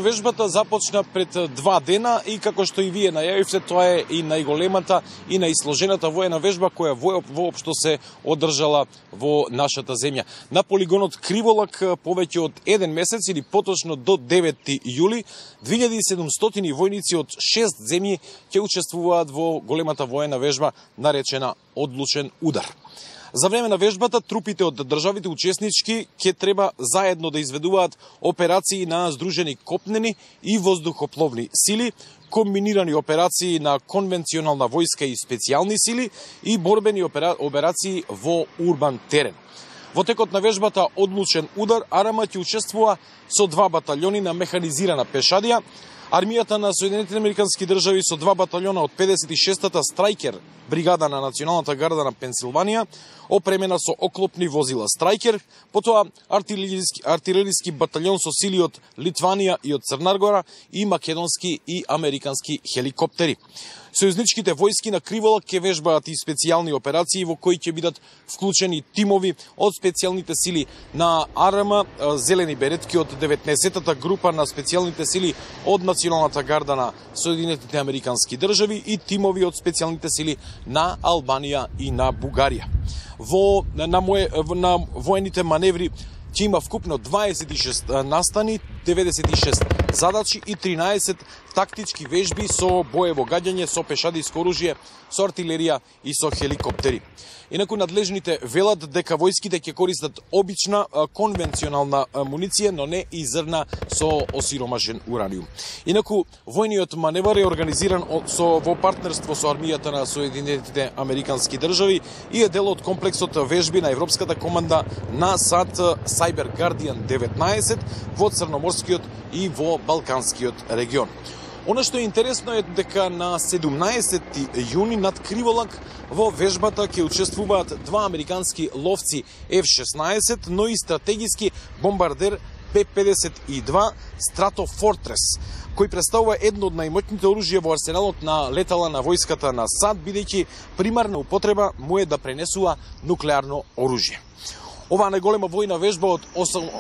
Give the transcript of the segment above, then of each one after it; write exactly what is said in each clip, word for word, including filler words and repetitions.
Вежбата започна пред два дена и како што и вие најавивте, тоа е и најголемата и најсложената воена вежба која воопшто се одржала во нашата земја. На полигонот Криволак повеќе од еден месец или поточно до деветти јули две илјади и седумстотини војници од шест земји ќе учествуваат во големата воена вежба наречена Одлучен удар. За време на вежбата, трупите од државите учеснички ќе треба заедно да изведуваат операции на здружени копнени и воздухопловни сили, комбинирани операции на конвенционална војска и специјални сили и борбени опера... операции во урбан терен. Во текот на вежбата Одлучен удар, АРМА ќе учествува со два батальони на механизирана пешадија, Армијата на Соединетите Американски држави со два батальона од педесет и шестата Страйкер, бригада на Националната гарда на Пенсилванија, опремена со оклопни возила Страйкер, потоа артилериски, артилериски батальон со сили од Литванија и од Црна и македонски и американски хеликоптери. Сојузничките војски на Криволак ќе вежбаат и специјални операции во кои ќе бидат вклучени тимови од специјалните сили на АРМА, зелени беретки од деветнаесеттата група на специјалните сили од Националната гарда на Соединетите Американски држави и тимови од специјалните сили на Албанија и на Бугарија. Во на моje на воените маневри ќе има вкупно дваесет и шест настани, деветдесет и шест задачи и тринаесет тактички вежби со боево гаѓање, со пешадиско оружје, со артилерија и со хеликоптери. Инаку надлежните велат дека војските ќе користат обична конвенционална муниција, но не и зрна со осиромашен ураниум. Инаку војниот маневар е организиран со во партнерство со армијата на Соединетите Американски држави и е дел од комплексот вежби на Европската команда на САД Cyber Guardian деветнаесет во Црноморскиот и во Балканскиот регион. Она што е интересно е дека на седумнаесетти јуни над Криволак во вежбата ќе учествуваат два американски ловци Еф шеснаесет, но и стратегиски бомбардер Б педесет и два Stratofortress, кој представува едно од најмоćните оружја во арсеналот на летала на војската на САД, бидејќи примарна употреба му е да пренесува нуклеарно оружје. Оваа најголема војна вежба од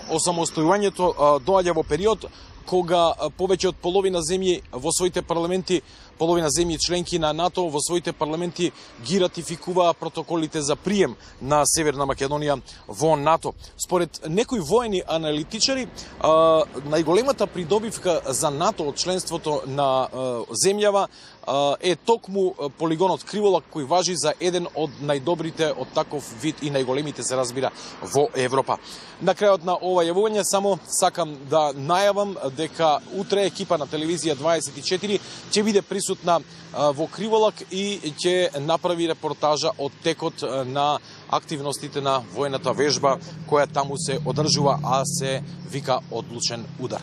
осамостојувањето доаѓа во период кога повеќе од половина земји во своите парламенти, половина земји членки на НАТО во своите парламенти ги ратификуваа протоколите за прием на Северна Македонија во НАТО. Според некои воени аналитичари, најголемата придобивка за НАТО од членството на земјава е токму полигонот Криволак, кој важи за еден од најдобрите од таков вид и најголемите, се разбира, во Европа. На крајот на ова јавување само сакам да најавам дека утре екипа на телевизија дваесет и четири ќе биде присутна во Криволак и ќе направи репортажа од текот на активностите на војната вежба која таму се одржува, а се вика Одлучен удар.